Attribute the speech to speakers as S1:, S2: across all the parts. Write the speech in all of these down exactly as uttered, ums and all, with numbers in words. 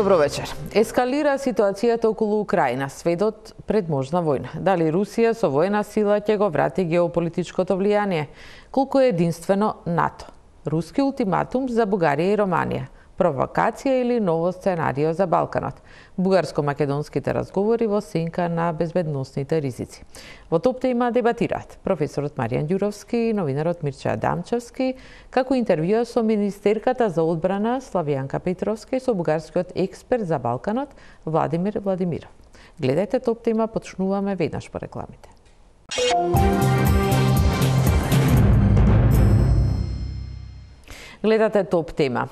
S1: Добро вечер. Ескалира ситуацијата околу Украина, светот пред можна војна. Дали Русија со војна сила ќе го врати геополитичкото влијание? Колку е единствено НАТО? Руски ултиматум за Бугарија и Романија? Провокација или ново сценарио за Балканот? Бугарско-македонските разговори во сенка на безбедносните ризици. Во топ тема дебатираат професорот Маријан Ѓуровски и новинарот Мирча Адамчевски, како интервјуа со министерката за одбрана Славјанка Петровска и со бугарскиот експерт за Балканот Владимир Владимиров. Гледајте топ тема, почнуваме веднаш по рекламите. Гледате топ тема.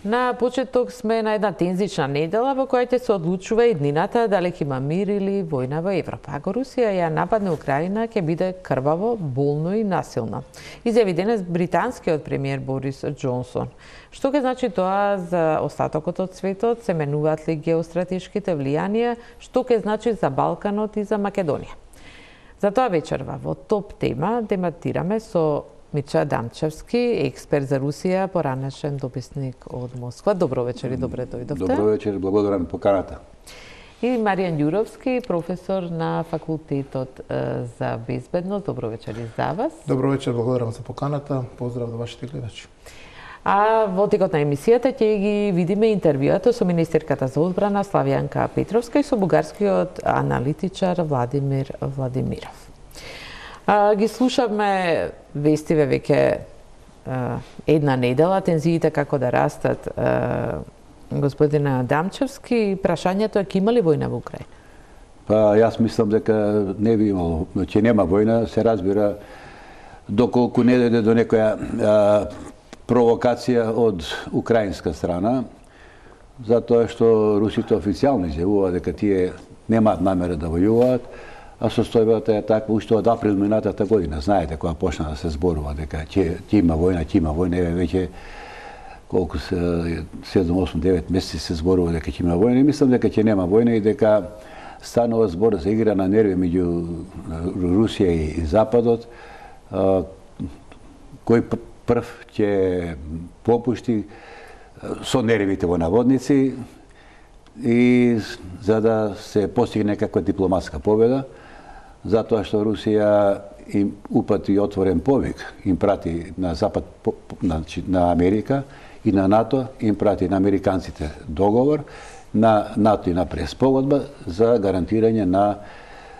S1: На почеток сме на една тензична недела во која ќе се одлучува еднината дали ќе има мир или војна во Европа. Ако Русија ја нападне Украина, ќе биде крваво, болно и насилно. Изјави денес британскиот премиер Борис Џонсон. Што ќе значи тоа за остатокот од светот? Се менуваат ли геостратешките влијанија? Што ќе значи за Балканот и за Македонија? За тоа вечерва во топ тема дебатираме со Мирча Адамчевски, експерт за Русија, поранешен дописник од Москва. Добро вечер и добре дојдовте.
S2: Добро вечер, благодарам на поканата.
S1: И Маријан Ѓуровски, професор на факултетот за безбедност. Добро вечер и за вас.
S3: Добро вечер, благодарам за поканата. Поздрав до вашите гледачи.
S1: А во текот на емисијата ќе ги видиме интервјуата со министерката за одбрана Славјанка Петровска и со бугарскиот аналитичар Владимир Владимиров. А, ги слушавме вестиве веќе една недела, тензиите како да растат. А, господин Адамчевски, прашањето е ќе има ли војна во Украина?
S2: Па јас мислам дека не би имало, ќе нема војна, се разбира доколку не дојде до некоја а, провокација од украинска страна, затоа што русите официјално изјавуваат дека тие немаат намера да војуваат. А состојбата е таква уште од април минатата година. Знаете, кога почна да се зборува дека ќе има војна, ќе има војна, еве веќе колку се седум, осум, девет месеци се зборува дека ќе има војна. И мислам дека ќе нема војна и дека станува збор за игра на нерви меѓу Русија и Западот. Кој прв ќе попушти со нервите во наводници и за да се постигне некаква дипломатска победа, затоа што Русија им упати отворен повик, им прати на Запад, на, на Америка и на НАТО, им прати на американците договор, на НАТО и на преспогодба за гарантирање на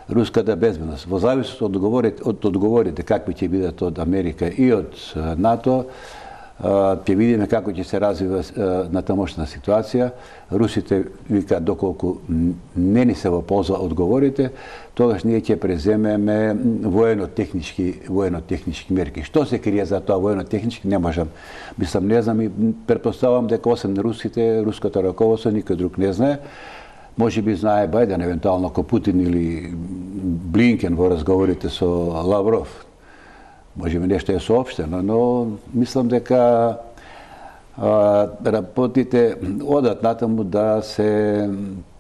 S2: руската безбедност. Во зависност од одговорите, од одговорите какви ќе бидат од Америка и од НАТО, ќе видиме како ќе се развива на тамошна ситуација. Русите викаат доколку не ни се во полза одговорите, тогаш ние ќе преземеме воено-технички воено-технички мерки. Што се крие за тоа воено-технички не можам. Мислам, не знам и претпоставувам дека освен русите, руското раководство никој друг не знае. Може би знае Бајден, евентуално ако Путин или Блинкен во разговорите со Лавров. Може би нешто е соопштено, но мислам дека а, работите одат натаму да се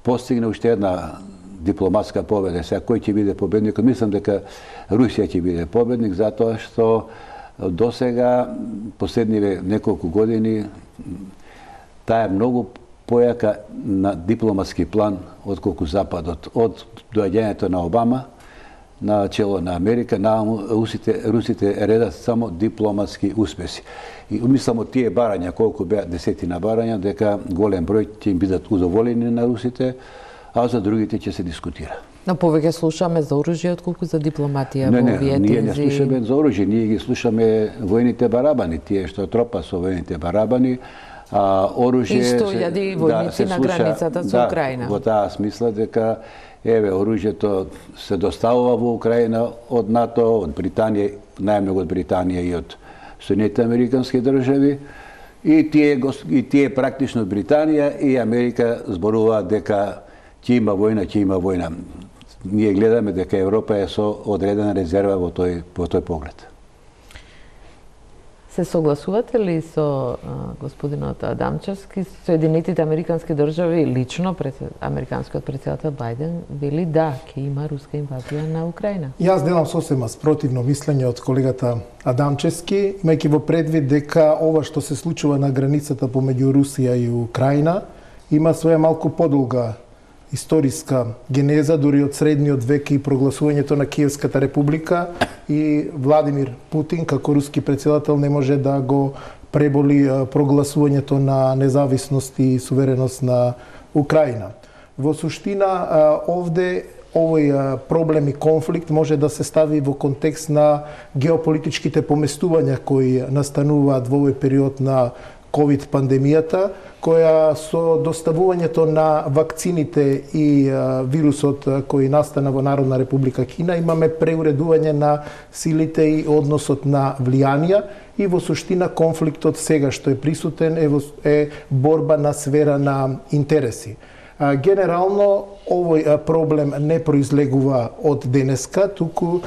S2: постигне уште една дипломатска победа. Сега кој ќе биде победникот? Мислам дека Русија ќе биде победник, затоа што досега, последниве неколку години, таа е многу појака на дипломатски план отколку Западот. Од доаѓањето на Обама на чело на Америка, на русите, русите редат само дипломатски успеси. И мислам од тие барања, колку беа десетина барања, дека голем број ќе им бидат удоволени на русите, а за другите ќе се дискутира.
S1: Но повеќе слушаме за оружје отколку за дипломатија во овие тензии.
S2: Ние не слушаме за оружје, ние ги слушаме војните барабани, тие што тропа со војните барабани, а оружје
S1: и сто илјади војници на границата со Украина.
S2: Во таа смисла дека еве, оружјето се доставува во Украина од НАТО, од Британија, најмногу од Британија и од Соединетите американски држави. И тие, и тие практично од Британија и Америка зборуваат дека ќе има војна, ќе има војна. Ние гледаме дека Европа е со одредена резерва во тој, во тој поглед.
S1: Се согласувате ли со а, господинот Адамчевски? Соединетите американски држави лично пред американскиот претседател Бајден вели да, ќе има руска инвазија на Украина.
S3: Јас делам сосема спротивно мислење од колегата Адамчевски, имајќи во предвид дека ова што се случува на границата помеѓу Русија и Украина има своја малку подолга историска генеза, дури од средниот век и прогласувањето на Киевската република, и Владимир Путин како руски председател не може да го преболи прогласувањето на независност и сувереност на Украина. Во суштина, овде овој проблем и конфликт може да се стави во контекст на геополитичките поместувања кои настануваат во овој период на ковид пандемијата, која со доставувањето на вакцините и вирусот кој настана во Народна република Кина имаме преуредување на силите и односот на влијанија, и во суштина конфликтот сега што е присутен е, е борба на сфера на интереси. Генерално, овој проблем не произлегува од денеска, туку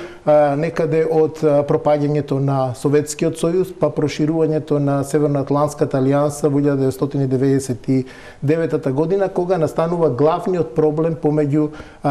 S3: некаде од пропаѓањето на Советскиот сојуз, па проширувањето на Северноатлантската алијанса во илјада деветстотини деветдесет и девета година, кога настанува главниот проблем помеѓу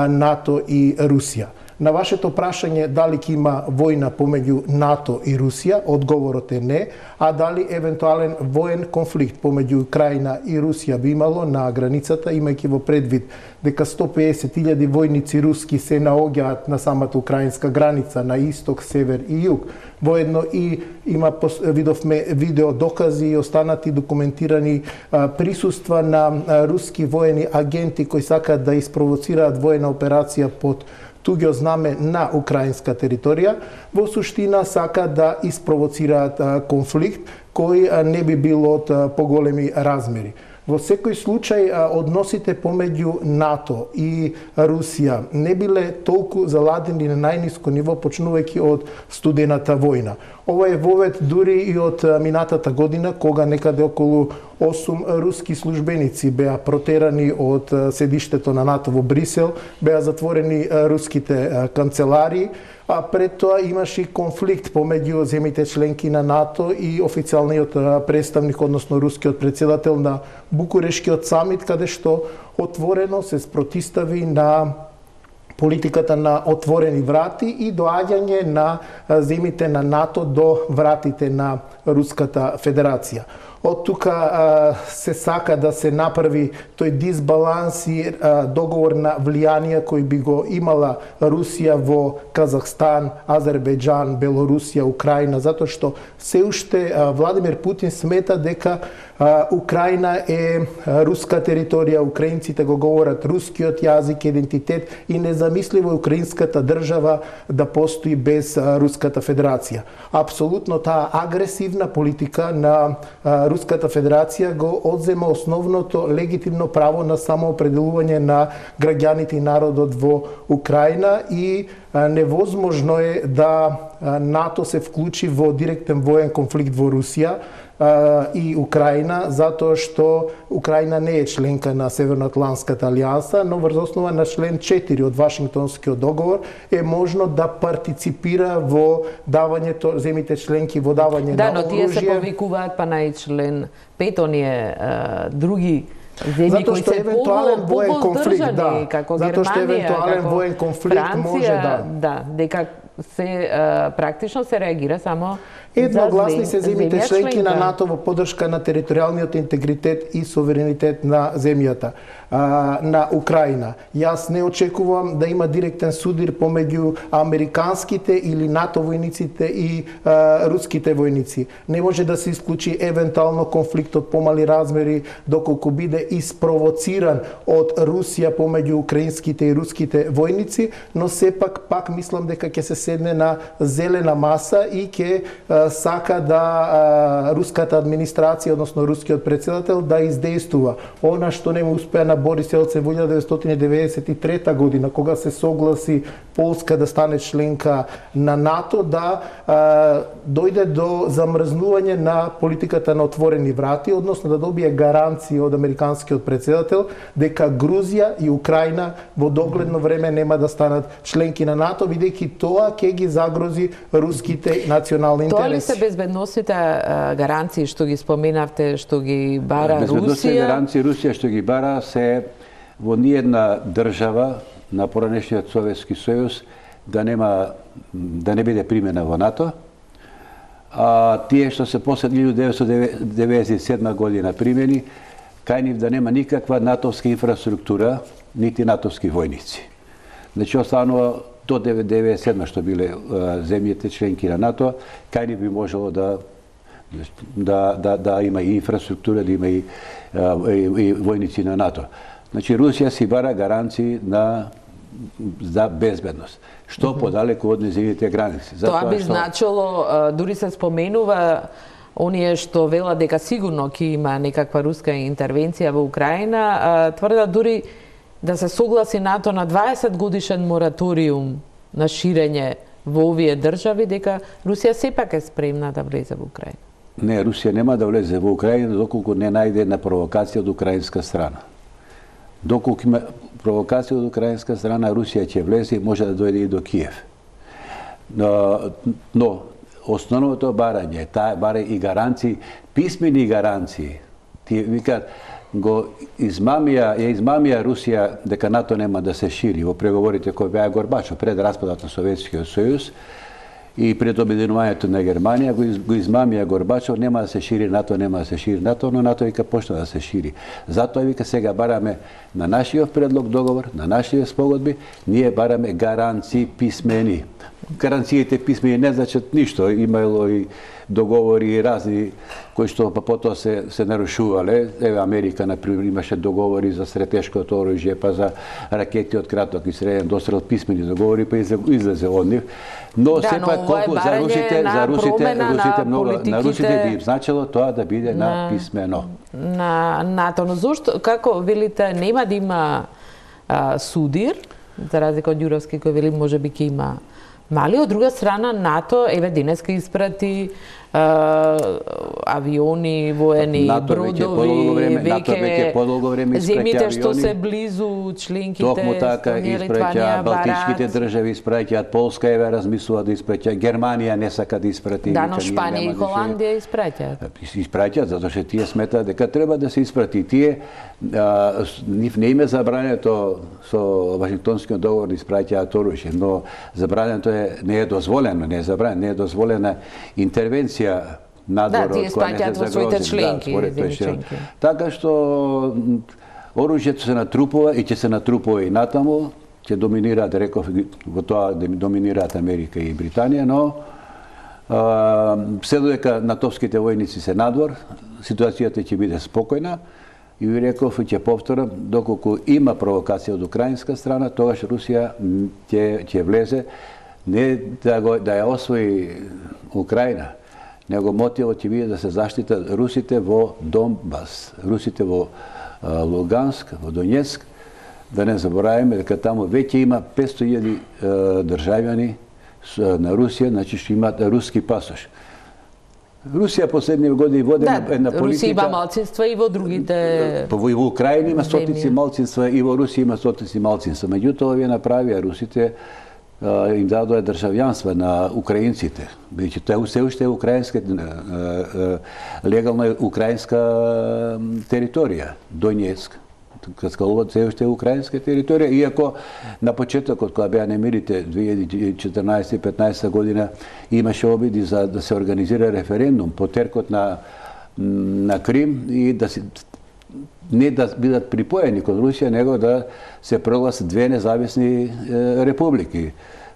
S3: НАТО и Русија. На вашето прашање дали ќе има војна помеѓу НАТО и Русија, одговорот е не, а дали евентуален воен конфликт помеѓу Украина и Русија би имало на границата, имајќи во предвид дека сто пеесет илјади војници руски се наоѓаат на самата украинска граница, на исток, север и југ. Воедно и има, видовме видео докази и останати документирани а, присуства на а, руски воени агенти кои сакаат да испровоцираат воена операција под туѓо знаме на украинска територија, во суштина сака да испровоцираат конфликт кој не би бил од поголеми размери. Во секој случај, односите помеѓу НАТО и Русија не биле толку заладени на најниско ниво, почнувајќи од студената војна. Ова е вовед дури и од минатата година, кога некаде околу осум руски службеници беа протерани од седиштето на НАТО во Брисел, беа затворени руските канцеларии, а пред тоа имаше конфликт помеѓу земјите членки на НАТО и официјалниот представник, односно рускиот председател на Букурешкиот самит, каде што отворено се спротистави на политиката на отворени врати и доаѓање на земјите на НАТО до вратите на Руската Федерација. Од тука се сака да се направи тој дисбаланс и договор на влијание кој би го имала Русија во Казахстан, Азербејџан, Белорусија, Украина, затоа што се уште Владимир Путин смета дека Украина е руска територија, украинците го говорат рускиот јазик, идентитет, и незамисливо е украинската држава да постои без Руската Федерација. Апсолутно таа агресивна политика на Руската Федерација го одзема основното легитимно право на самоопределување на граѓаните и народот во Украина, и невозможно е да НАТО се вклучи во директен воен конфликт во Русија и Украина, затоа што Украина не е членка на Северноатлантската алијанса, но врз основа на член четири од Вашингтонскиот договор е можно да партиципира во давањето, земите членки во давање
S1: да,
S3: на оружје.
S1: Да, но тие се повикуваат па на член пет, оние други земји кои се
S3: евентуален воен конфликт, да,
S1: како
S3: затоа што
S1: Германија,
S3: евентуален
S1: како
S3: воен конфликт
S1: Франција,
S3: може да.
S1: Да, дека се практично се реагира само
S3: едногласни се земјите членки на НАТО во поддршка на територијалниот интегритет и суверенитет на земјата, а, на Украина. Јас не очекувам да има директен судир помеѓу американските или НАТО војниците и а, руските војници. Не може да се исклучи евентуално конфликт од помали размери доколку биде испровоциран од Русија помеѓу украинските и руските војници, но сепак пак мислам дека ќе се седне на зелена маса и ќе сака да а, руската администрација, односно рускиот председател, да издействува она што не му успеа на Борис Елцин во илјада деветстотини деветдесет и трета година, кога се согласи Полска да стане членка на НАТО, да а, дојде до замрзнување на политиката на отворени врати, односно да добие гаранции од американскиот председател дека Грузија и Украина во догледно време нема да станат членки на НАТО, бидејќи тоа ќе ги загрози руските национални интереси.
S1: Тоа ли се безбедносните гаранции што ги споменавте, што ги бара Русија?
S2: Безбедносните гаранции Русија што ги бара се во ниедна држава на поранешниот Советски сојуз да нема да не биде примена во НАТО. А тие што се после илјада деветстотини деветдесет и седма година примени, кај нив да нема никаква натовска инфраструктура, нити натовски војници. Значи, останува до деветдесет и седма што биле земјите членки на НАТО, кај нив би можело да да да да има и инфраструктура, да има и, и, и војници на НАТО. Значи, Русија си бара гаранции на за безбедност. Што mm -hmm. подалеку од нејзините граници.
S1: Затоа Тоа би што... значило, дури се споменува оние што велат дека сигурно ќе има некаква руска интервенција во Украина, тврдат дури да се согласи НАТО на дваесет годишен мораториум на ширење во овие држави, дека Русија сепак е спремна да влезе во Украина.
S2: Не, Русија нема да влезе во Украина доколку не најде една провокација од украинска страна. Доколку има провокација од украинска страна, Русија ќе влезе и може да дојде и до Киев. Но, но основното барање, таа бара и гаранции, писмени гаранции. Ти викаат, го измамија, ја измамија Русија дека НАТО нема да се шири во преговорите кои беа Горбачов пред распадот на Советскиот сојуз и пред обединувањето на Германија, го, из, го измамија Горбачов, нема да се шири НАТО, нема да се шири НАТО, но НАТО вика почна да се шири. Затоа вика сега бараме на нашиот предлог договор, на нашите спогодби, ние бараме гаранции писмени. Гаранциите писмени не значат ништо, имало и договори и разни кои што па потоа се се нарушувале. Еве Америка на пример имаше договори за стратешкото оружје, па за ракети од краток и среден дострел, писмени договори, па излезе од нив. Но
S1: да,
S2: сепак
S1: но
S2: колку за русите, за русите, русите многу,
S1: политиките...
S2: на русите би им значило тоа да биде на, на писмено.
S1: На НАТО, но зошто, како велите, нема да има а, судир, за разлика од Ѓуровски кој вели можеби ќе има мали, од друга страна НАТО еве денеска испрати а, авиони, воени,
S2: НАТО
S1: бродови,
S2: веќе подолго време испраќа
S1: земите што
S2: авиони.
S1: се близу членките,
S2: Токму така испраќа балтичките држави, испраќаат Полска, еве размислува да испраќа, Германија не сака да испрати.
S1: Да, но Шпанија и Холандија испраќаат.
S2: Испраќаат затоа што тие сметаат дека треба да се испрати. Тие а, нив не име забрането со Вашингтонскиот договор да испраќаат оружје, но забрането е не е дозволено, не е забрането, не е дозволена интервенција надвор
S1: да,
S2: од која не се загрозим. Да,
S1: членки.
S2: Така што оружјето се натрупува и ќе се натрупува и натаму, ќе доминираат, реков, во тоа доминираат Америка и Британија, но а, се додека натовските војници се надвор, ситуацијата ќе биде спокојна и ви реков и ќе повторам, доколку има провокација од украинска страна, тогаш Русија ќе ќе влезе не да го да ја освои Украина, него мотивот ќе биде да се заштитат русите во Донбас, русите во а, Луганск, во Донецк, да не забораваме дека таму веќе има петсто илјади државјани на Русија, значи што имаат руски пасош. Русија последни години води да, една политика...
S1: Русија има малцинства и во другите...
S2: Во, во Украина има стотици малцинства и во Русија има стотици малцинства. Меѓутоа, овие направија русите, им дадоа државјанства на украинците. Бидејќи тоа се уште е украинска легална украинска територија, Донецк. Каскалуват се уште е украинска територија, иако на почетокот кога беа немирите две илјади и четрнаесета и петнаесета година имаше обиди за да се организира референдум по теркот на на Крим и да се не да бидат припоени кон Русија, него да се прогласат две независни е, републики.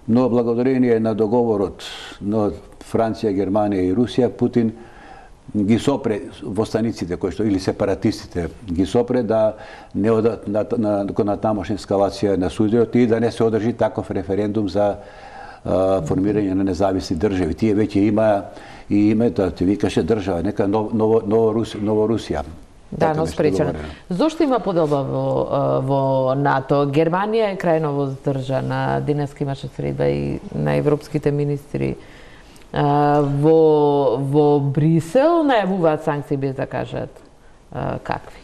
S2: Но благодарение на договорот на Франција, Германија и Русија, Путин ги сопре востаниците кои што или сепаратистите ги сопре да не одат на на на тамошна ескалација на сударот и да не се одржи таков референдум за а, формирање на независни држави. Тие веќе има и името, ти викаше држава, нека ново ново Рус, ново Русија.
S1: Да, но спречено. Зошто има поделба во, во НАТО? Германија е крајно воздржана. Денеска имаше средба и на европските министри. Во, во Брисел најавуваат санкции без да кажат какви.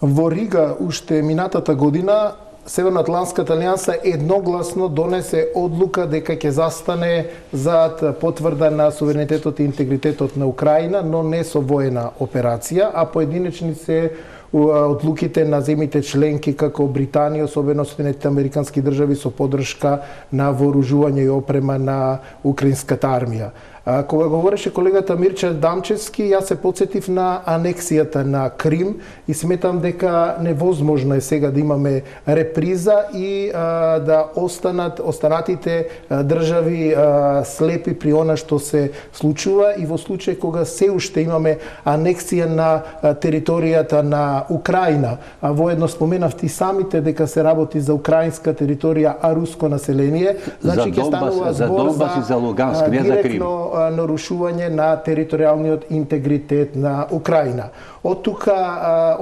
S3: Во Рига уште минатата година Северноатлантската алијанса едногласно донесе одлука дека ќе застане зад потврда на суверенитетот и интегритетот на Украина, но не со воена операција, а поединечни се одлуките на земите членки како Британија, особено Соединетите американски држави со поддршка на вооружување и опрема на украинската армија. А, кога говореше колегата Мирча Дамчевски, јас се подсетив на анексијата на Крим и сметам дека невозможно е сега да имаме реприза и а, да останат останатите а, држави а, слепи при она што се случува и во случај кога се уште имаме анексија на а, територијата на Украина, а воедно споменавте и самите дека се работи за украинска територија, а руско население, значи ќе станува збор за,
S2: за Луганск, не за Крим.
S3: Директно нарушување на територијалниот интегритет на Украина. Од тука,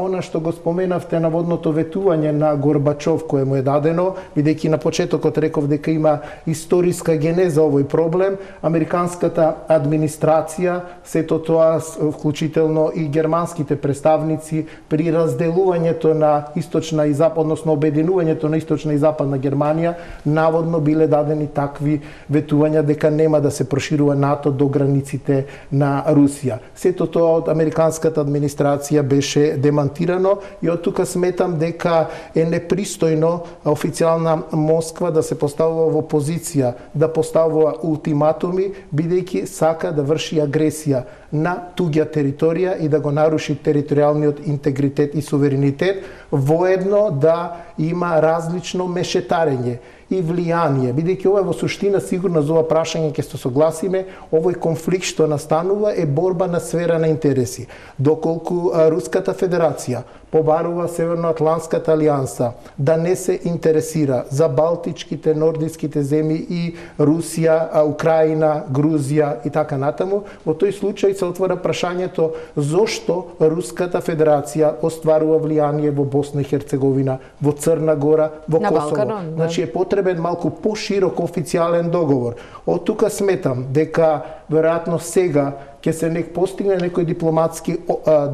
S3: она што го споменавте, наводното ветување на Горбачов кое му е дадено, бидејќи на почетокот реков дека има историска генеза овој проблем, американската администрација, сето тоа вклучително и германските представници при разделувањето на источна и западна, односно обединувањето на источна и западна Германија, наводно биле дадени такви ветувања дека нема да се проширува НАТО до границите на Русија. Сето тоа од американската администрација беше демантирано и од тука сметам дека е непристојно официјална Москва да се поставува во позиција да поставува ултиматуми, бидејќи сака да врши агресија на туѓа територија и да го наруши територијалниот интегритет и суверенитет, воедно да има различно мешетарење и влијание, бидејќи ова во суштина сигурно за ова прашање ќе се согласиме, овој конфликт што настанува е борба на сфера на интереси. Доколку Руската Федерација побарува Северноатлантската алијанса да не се интересира за балтичките, нордиските земји и Русија, Украина, Грузија и така натаму, во тој случај се отвора прашањето зошто Руската Федерација остварува влијание во Босна и Херцеговина, во Црна Гора, во
S1: на
S3: Косово.
S1: Балканон, да.
S3: Значи е потребен малку поширок официјален договор. Од тука сметам дека веројатно сега ќе се нек постигне некој дипломатски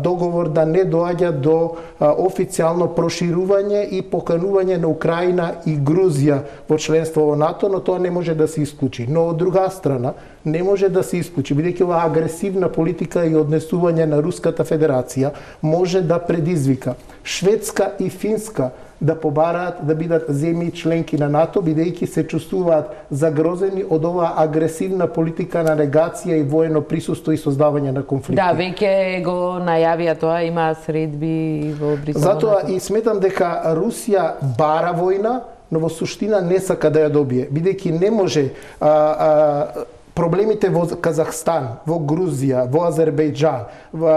S3: договор да не доаѓа до официјално проширување и поканување на Украина и Грузија во членство во НАТО, но тоа не може да се исклучи. Но од друга страна не може да се исклучи, бидејќи оваа агресивна политика и однесување на Руската Федерација може да предизвика Шведска и Финска да побараат да бидат земји членки на НАТО, бидејќи се чувствуваат загрозени од оваа агресивна политика на негација и воено присуство и создавање на конфликти.
S1: Да, веќе го најавија тоа, има средби во Британија.
S3: Затоа и сметам дека Русија бара војна, но во суштина не сака да ја добие, бидејќи не може а, а, проблемите во Казахстан, во Грузија, во Азербејџан, во,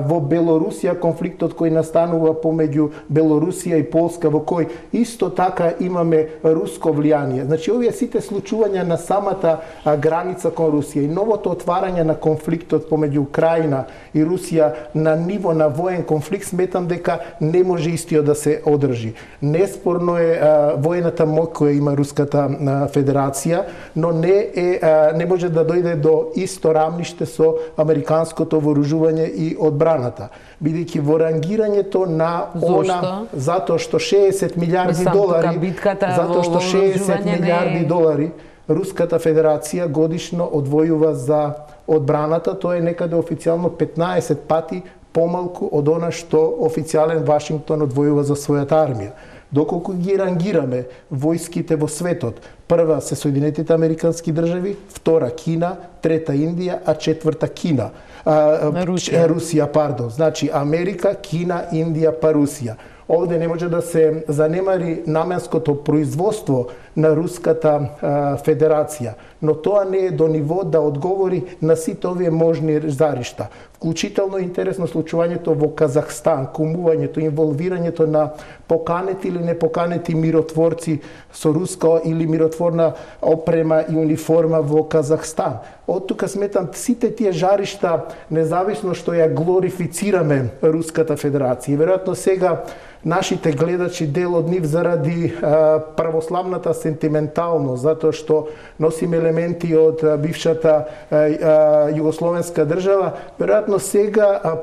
S3: во Белорусија, конфликтот кој настанува помеѓу Белорусија и Полска, во кој исто така имаме руско влијание. Значи, овие сите случувања на самата граница кон Русија и новото отварање на конфликтот помеѓу Украина и Русија на ниво на воен конфликт, сметам дека не може истиот да се одржи. Неспорно е а, воената моќ која има Руската а, Федерација, но не е а, не може да дојде до исто рамниште со американското вооружување и одбраната, бидејќи во рангирањето на она затоа што шеесет милиарди долари, затоа што шеесет милиарди долари Руската Федерација годишно одвојува за одбраната, тоа е некаде официјално петнаесет пати помалку од она што официјален Вашингтон одвојува за својата армија. Доколку ги рангираме војските во светот, прва се Соединетите Американски држави, втора Кина, трета Индија, а четврта Кина. А,
S1: Русија.
S3: Русија, пардон. Значи Америка, Кина, Индија, па Русија. Овде не може да се занемари наменското производство на Руската а, Федерација, но тоа не е до ниво да одговори на сите овие можни заришта. Вклучително интересно случувањето во Казахстан, кумувањето, инволвирањето на поканети или непоканети миротворци со руска или миротворна опрема и униформа во Казахстан. Од тука сметам сите тие жаришта, независно што ја глорифицираме Руската Федерација. Веројатно сега нашите гледачи, дел од нив заради а, православната сентименталност, затоа што носиме елементи од а, бившата а, а, југословенска држава, веројатно сега а,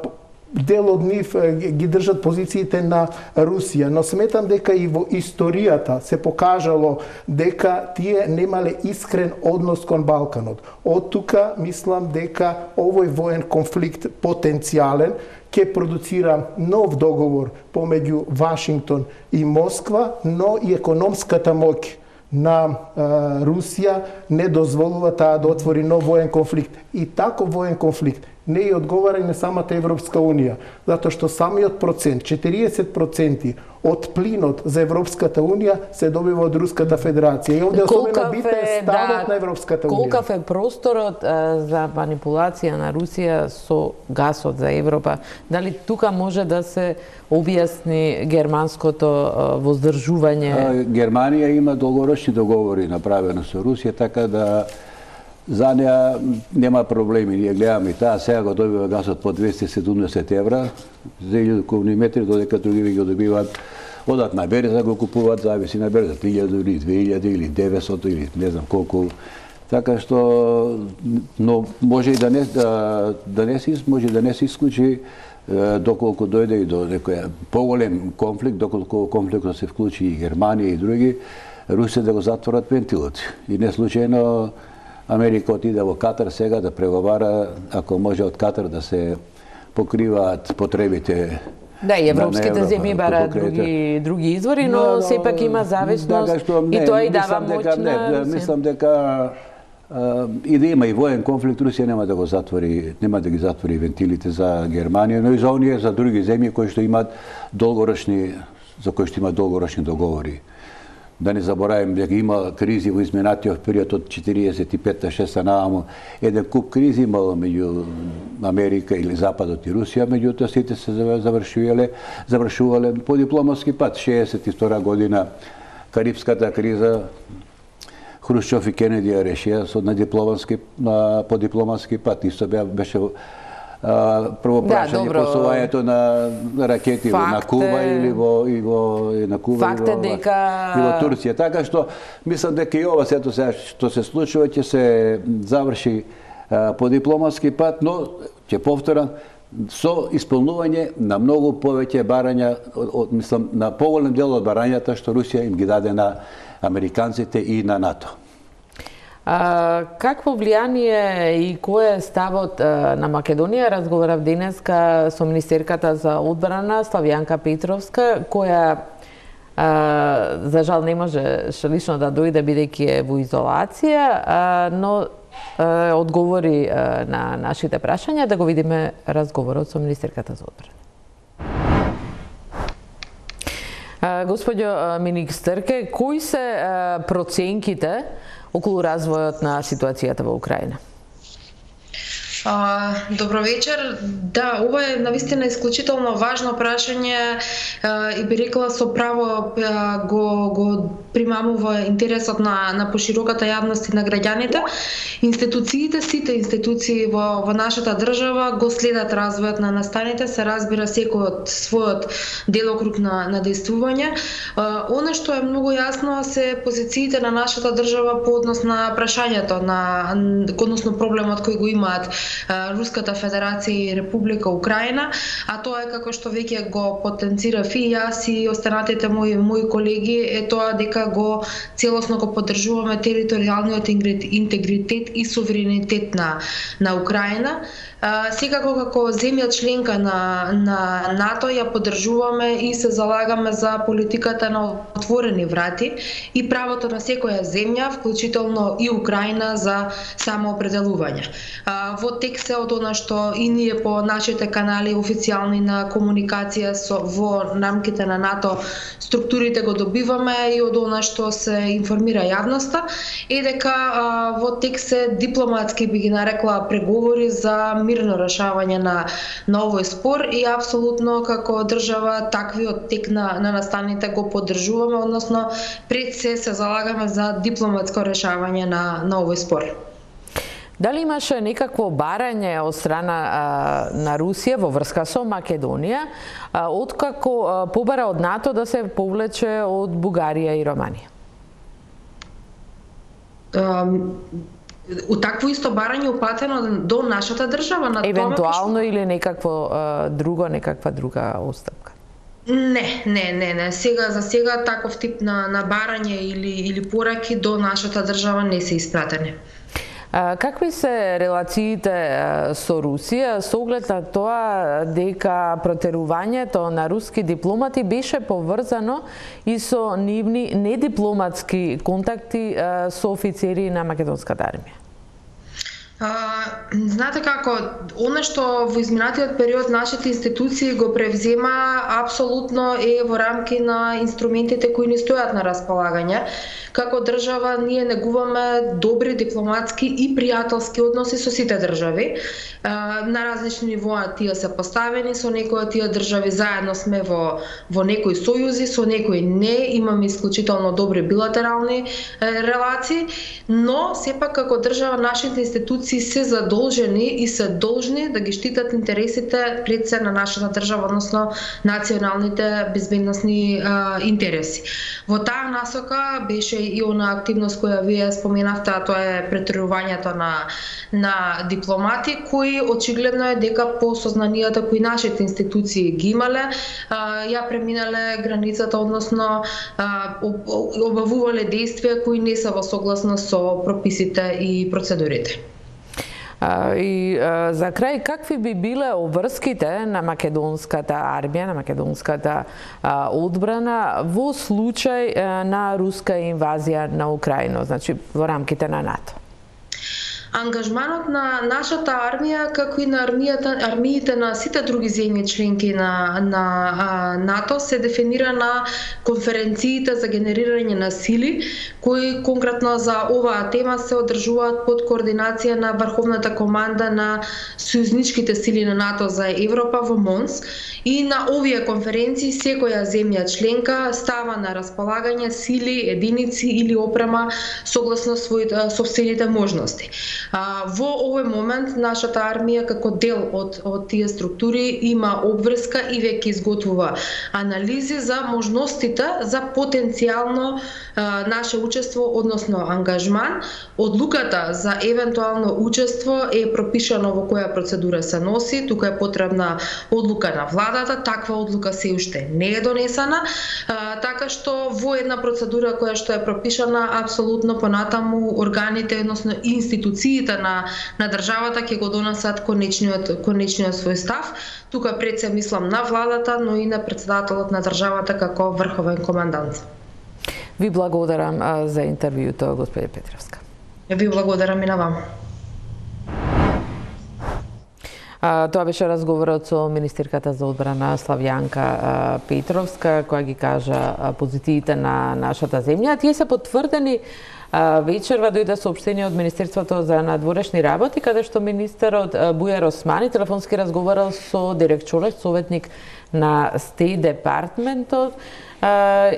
S3: дел од нив а, ги држат позициите на Русија, но сметам дека и во историјата се покажало дека тие немале искрен однос кон Балканот. Од тука мислам дека овој воен конфликт потенцијален ќе продуцира нов договор помеѓу Вашингтон и Москва, но и економската моќ на Русија не дозволува таа да отвори нов воен конфликт. И таков воен конфликт не е одговара и на самата Европска Унија, затоа што самиот процент, четириесет проценти од плинот за Европската Унија се добива од Руската Федерација. И овде особено битен ставот
S1: да,
S3: на Европската Унија.
S1: Колкав е просторот а, за манипулација на Русија со гасот за Европа? Дали тука може да се објасни германското а, воздржување?
S2: А, Германија има долгорочни договори направено со Русија, така да за неа нема проблеми. Ние гледаме и таа сега го добива гасот по двесте и седумдесет евра за илјаду кубни метри, додека други го добиваат одат на берза, го купуваат, зависи на берза, илјаду или две илјади или деветстотини или не знам колку. Така што, но може и да не да, да не се може да не се исклучи доколку дојде и до некој поголем конфликт, доколку конфликтот се вклучи и Германија и други, Русија да го затворат вентилот. И не случајно Америка отиде во Катар сега да преговара, ако може од Катар да се покриваат потребите.
S1: Да, и европските земји бараат други други извори, но, но сепак има зависност да, што, не, и тоа и дава моќ на...
S2: Мислам дека а, и да има и воен конфликт, Русија нема да го затвори, нема да ги затвори вентилите за Германија, но и за оние, за други земји кои што имаат долгорочни, за кои што имаат долгорочни договори. Да не заборавим дека има кризи во изминатиот период од четириесет и петта шеста нааму. Еден куп кризи имало меѓу Америка или Западот и Русија, меѓутоа сите се завршувале, завршувале по дипломатски пат. шеесет и втора година Карипската криза, Хрушчов и Кенеди ја решија со на дипломатски на по дипломатски пат. Исто беше прво прашање да, посувањето на ракети факт на Куба е... или во и во и на Куба
S1: факт е дека
S2: и во Турција. Така што мислам дека и ова сето сега што се случува ќе се заврши а, по дипломатски пат, но ќе повторам со исполнување на многу повеќе барања, од, мислам на поголем дел од барањата што Русија им ги даде на американците и на НАТО.
S1: А, какво влијание и кој е ставот а, на Македонија? Разговарав денеска со министерката за одбрана Славјанка Петровска, која а, за жал не може лично да дојде бидејќи е во изолација, а, но а, одговори а, на нашите прашања. Да го видиме разговорот со министерката за одбрана. Господјо министерке, кои се а, проценките околу развојот на ситуацијата во Украина?
S4: А, добро вечер. Да, ова е навистина исклучително важно прашање а, и би рекла со право а, го, го примамува интересот на, на пошироката јавност и на граѓаните. Институциите, сите институции во, во нашата држава го следат развојот на настаните, се разбира секој од својот делокруг на, на действување. А, она што е многу јасно се позициите на нашата држава по однос на прашањето, на, односно проблемот кој го имаат Руската Федерација и Република Украина, а тоа е како што веќе го потенцирав и јас и останатите мои мои колеги, е тоа дека го целосно го поддржуваме територијалниот интегритет и суверенитет на на Украина. Секако како земја членка на на НАТО ја поддржуваме и се залагаме за политиката на отворени врати и правото на секоја земја, вклучително и Украина, за самоопределување. Во текст е од она што и ние по нашите канали официјални на комуникација со во рамките на НАТО структурите го добиваме и од она што се информира јавноста, е дека а, во текст е дипломатски, би ги нарекла, преговори за мирно решавање на, на овој спор и апсолутно како држава таквиот тек на, на настаните го поддржуваме, односно пред се се залагаме за дипломатско решавање на, на овој спор.
S1: Дали имаше некакво барање од страна а, на Русија во врска со Македонија, а, откако а, побара од НАТО да се повлече од Бугарија и Романија?
S4: Um... У такво исто барање упатено до нашата држава на
S1: евентуално
S4: тоа,
S1: или некакво а, друго, некаква друга отстапка?
S4: Не, не, не, не. Сега за сега таков тип на на барање или или пораки до нашата држава не се испратени.
S1: Какви се релациите со Русија со оглед на тоа дека протерувањето на руски дипломати беше поврзано и со нивни недипломатски контакти со офицери на македонската армија?
S4: А, знаете како, оно што во изминатиот период нашите институции го превзема апсолутно е во рамки на инструментите кои ни стојат на располагање. Како држава ние негуваме добри дипломатски и пријателски односи со сите држави. А, на различни нивоа тие се поставени, со некои од тие држави заедно сме во во некои сојузи, со некои не, имаме исклучително добри билатерални е, релации, но сепак како држава нашите институции се задолжени и се должни да ги штитат интересите пред се на нашата држава, односно националните безбедносни а, интереси. Во таа насока беше и она активност која вие споменавте, а тоа е претерувањето на на дипломати кои очигледно е дека по сознанијата кои нашите институции ги имале, а, ја преминале границата, односно а, обавувале действија кои не се во согласност со прописите и процедурите.
S1: И за крај, какви би биле обврските на македонската армија, на македонската одбрана во случај на руска инвазија на Украина, значи во рамките на НАТО?
S4: Ангажманот на нашата армија, како и на армијата, армиите на сите други земји членки на, на а, НАТО, се дефинира на конференциите за генерирање на сили, кои конкретно за оваа тема се одржуваат под координација на Врховната команда на сојузничките сили на НАТО за Европа во Монс. И на овие конференции секоја земја членка става на располагање сили, единици или опрема согласно своите сопствените можности. А, во овој момент нашата армија како дел од, од тие структури има обврска и веќе изготвува анализи за можностите за потенцијално а, наше учество, односно ангажман. Одлуката за евентуално учество е пропишано во која процедура се носи, тука е потребна одлука на владата, таква одлука се уште не е донесена, а, така што во една процедура која што е пропишана, апсолутно понатаму органите, односно институциите на на државата ќе го донесат конечниот конечниот свој став. Тука пред се мислам на владата, но и на претседателот на државата како врховен командант.
S1: Ви благодарам за интервјуто, господи Петровска.
S4: Ви благодарам и на вам.
S1: А, тоа беше разговорот со министерката за одбрана Славјанка Петровска, која ги кажа позициите на нашата земја. Тие се потврдени вечерва, дојде соопштение од Министерството за надворешни работи, каде што министерот Бујар Османи телефонски разговарал со Дерек Чолеш, советник на Стејт департментот,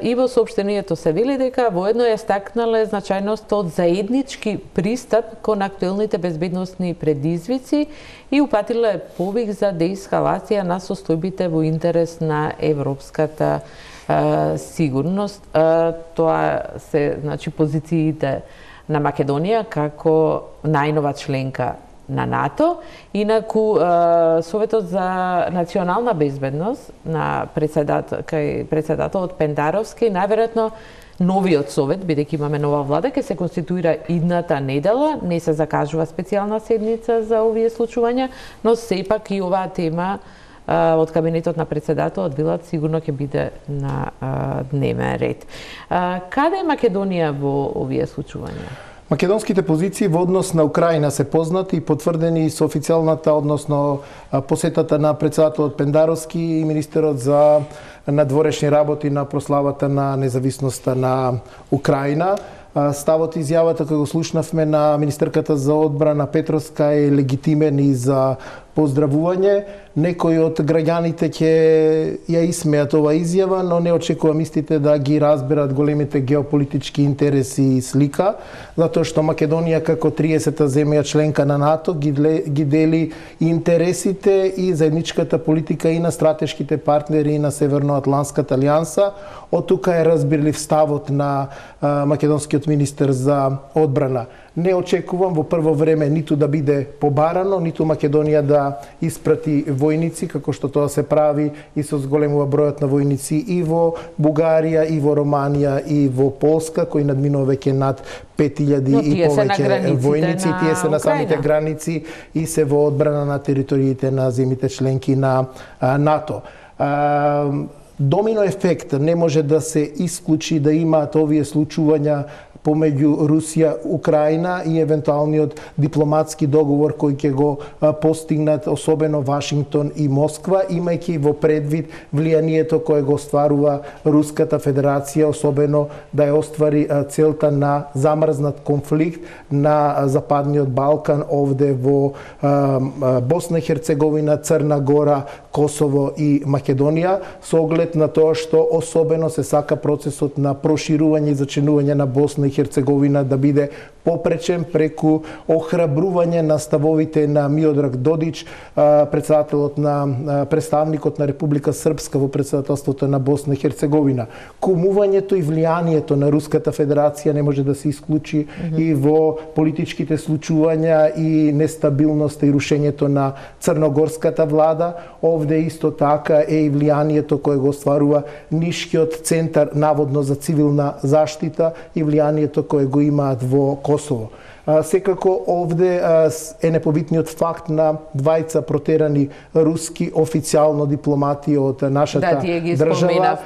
S1: и во соопштението се вели дека воедно ја стакнале значајност од заеднички пристап кон актуелните безбедносни предизвици и упатиле повик за деескалација на состојбите во интерес на европската сигурност. Тоа се, значи, позициите на Македонија како најнова членка на НАТО. Инаку Советот за национална безбедност на председател, кај председателот Пендаровски, најверојатно новиот совет, бидејќи имаме нова влада, ќе се конституира идната недела, не се закажува специјална седница за овие случувања, но сепак и оваа тема од кабинетот на председателот Билат сигурно ќе биде на а, дневен ред. А, каде е Македонија во овие случувања?
S3: Македонските позиции во однос на Украина се познати и потврдени со официјалната, односно посетата на председателот Пендаровски и министерот за надворешни работи на прославата на независноста на Украина. Ставот и изјавата кој го слушнавме на министерката за одбрана Петровска е легитимен и за поздравување. Некои од граѓаните ќе ја исмеат ова изјава, но не очекувам истите да ги разберат големите геополитички интереси и слика, затоа што Македонија како триесета земја членка на НАТО ги, ги дели интересите и заедничката политика и на стратешките партнери и на Северноатлантската алијанса. Од тука е разбирлив ставот на а, македонскиот министер за одбрана. Не очекувам во прво време ниту да биде побарано, ниту Македонија да испрати војници, како што тоа се прави и со зголемува бројот на војници и во Бугарија, и во Романија, и во Полска, кои надминува веќе над пет илјади и повеќе војници. Тие се на самите граници и се во одбрана на териториите на земјите членки на НАТО. Домино ефект не може да се исклучи да имаат овие случувања помеѓу Русија, Украина и евентуалниот дипломатски договор кој ќе го постигнат особено Вашингтон и Москва, имајќи во предвид влијанието кое го остварува Руската Федерација, особено да ја оствари целта на замрзнат конфликт на Западниот Балкан, овде во Босна и Херцеговина, Црна Гора, Косово и Македонија, со оглед на тоа што особено се сака процесот на проширување и зачинување на Босна и Херцеговина да биде попречен преку охрабрување на ставовите на Миодраг Додич, председателот на представникот на Република Српска во председателството на Босна и Херцеговина. Кумувањето и влијанието на Руската Федерација не може да се исклучи mm -hmm. и во политичките случувања и нестабилноста и рушењето на црногорската влада. Овде исто така е и влијанието кое го остварува Нишкиот центар наводно за цивилна заштита и влијанието кое го имаат во Косово. Секако овде е непобитниот факт на двајца протерани руски официјално дипломати од нашата
S1: да,
S3: држава.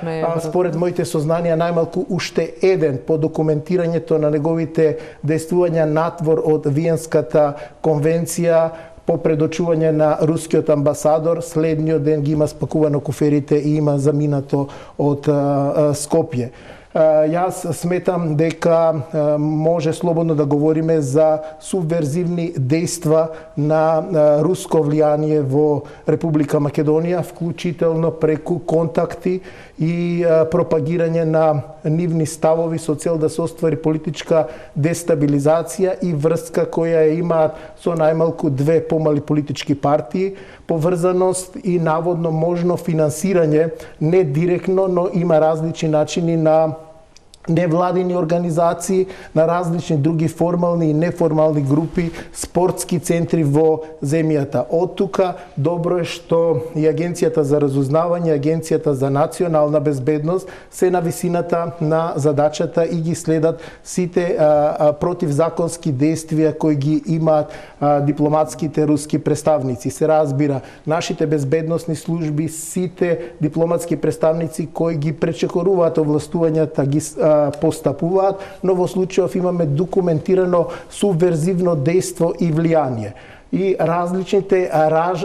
S3: Според моите сознанија, најмалку уште еден по документирањето на неговите действувања надвор од Виенската конвенција по предочување на рускиот амбасадор, следниот ден ги има спакувано куферите и има заминато од Скопје. Јас сметам дека може слободно да говориме за субверзивни дејства на руско влијание во Република Македонија, вклучително преку контакти и пропагирање на нивни ставови со цел да се оствари политичка дестабилизација и врска која ја имаат со најмалку две помали политички партии, поврзаност и наводно можно финансирање, не директно, но има различни начини на невладини организации, на различни други формални и неформални групи, спортски центри во земјата. Од тука добро е што и Агенцијата за разузнавање, Агенцијата за национална безбедност се на висината на задачата и ги следат сите а, а, противзаконски действија кои ги имаат а, дипломатските руски представници. Се разбира, нашите безбедносни служби, сите дипломатски представници кои ги пречекоруваат овластувањата, ги а, постапуваат, но во случајов имаме документирано субверзивно дејство и влијание. И различните раж,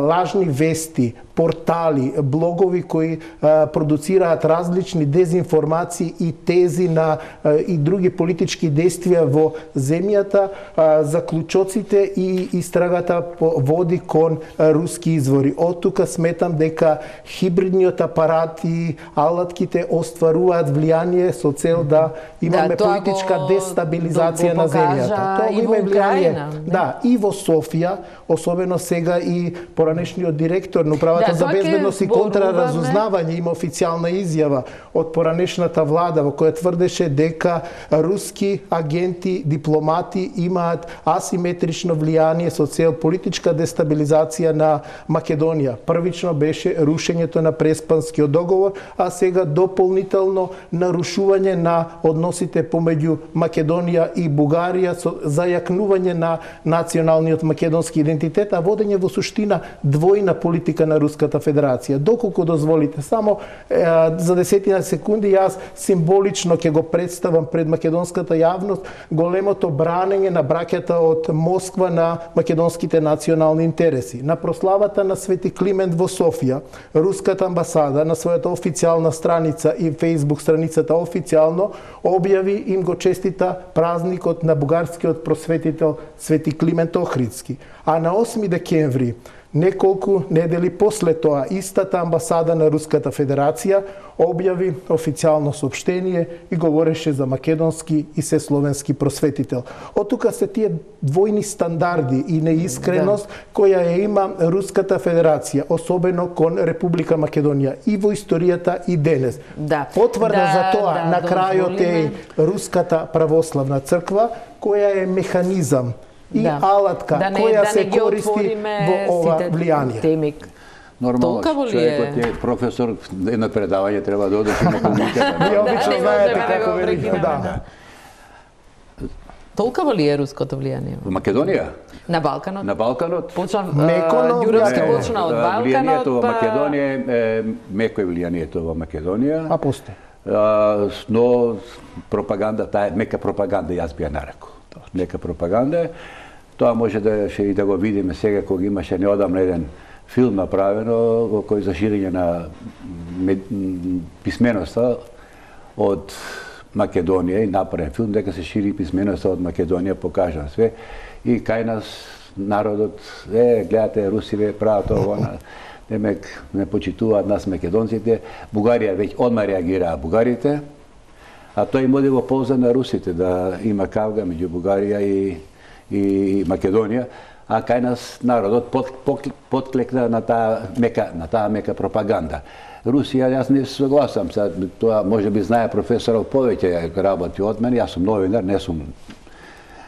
S3: лажни вести, портали, блогови кои а, продуцираат различни дезинформации и тези на а, и други политички действија во земјата, а, заклучоците и истрагата води кон а, руски извори. Од тука сметам дека хибридниот апарат и алатките остваруваат влијание со цел да имаме да, политичка го, дестабилизација на земјата. Тоа има влијание. Да, и во Софија, особено сега и поранешниот директор на управата да, за безбедност и контраразузнавање има официјална изјава од поранешната влада во која тврдеше дека руски агенти, дипломати имаат асиметрично влијание со цел политичка дестабилизација на Македонија. Првично беше рушењето на Преспанскиот договор, а сега дополнително нарушување на односите помеѓу Македонија и Бугарија со зајакнување на националниот македонски идентитет, а водење во суштина двојна политика на Руската Федерација. Доколку дозволите, само е, за десетина секунди јас символично ќе го представам пред македонската јавност големото бранење на браќата од Москва на македонските национални интереси. На прославата на Свети Климент во Софија, Руската амбасада на својата официјална страница и Фејсбук страницата официјално објави им го честита празникот на бугарскиот просветител Свети Климент Охридски. Магнитски. А на осми декември, неколку недели после тоа, истата амбасада на Руската Федерација објави официјално соопштение и говореше за македонски и се словенски просветител. Од тука се тие двојни стандарди и неискреност да. која ја има Руската Федерација, особено кон Република Македонија и во историјата и денес.
S1: Да.
S3: Потврда
S1: да,
S3: за тоа
S1: да,
S3: на крајот е Руската православна црква, која е механизам и
S1: да.
S3: алатка
S1: да не,
S3: која
S1: да
S3: се користи во ова влијание.
S2: Нормално, човекот е професор, едно предавање треба да одиш на комуниката.
S3: Вие обично знаете како велики. Да.
S1: Толкаво ли е руското влијание?
S2: Во Македонија?
S1: На Балканот?
S2: На Балканот.
S1: Почна Ѓуровски почна од Балканот.
S2: Влијанието во Македонија е меко е влијанието во Македонија.
S3: А посте.
S2: Но пропаганда, таа е мека пропаганда, јас би ја нарекол. Мека пропаганда. Тоа може да ще и да го видиме сега кога имаше неодамно еден филм направено во кој за ширење на писменоста од Македонија и направен филм дека се шири писменоста од Македонија, покажан све и кај нас народот е гледате русиве прават ова, демек не почитуваат нас македонците. Бугарија веќе одма реагираа бугарите, а тоа им оди во полза на русите да има кавга меѓу Бугарија и и Македонија, а кај нас народот подклекна на таа мека на таа мека пропаганда. Русија, јас не се согласам, тоа може би знае професоров повеќе работи од мене, јас сум новинар, не сум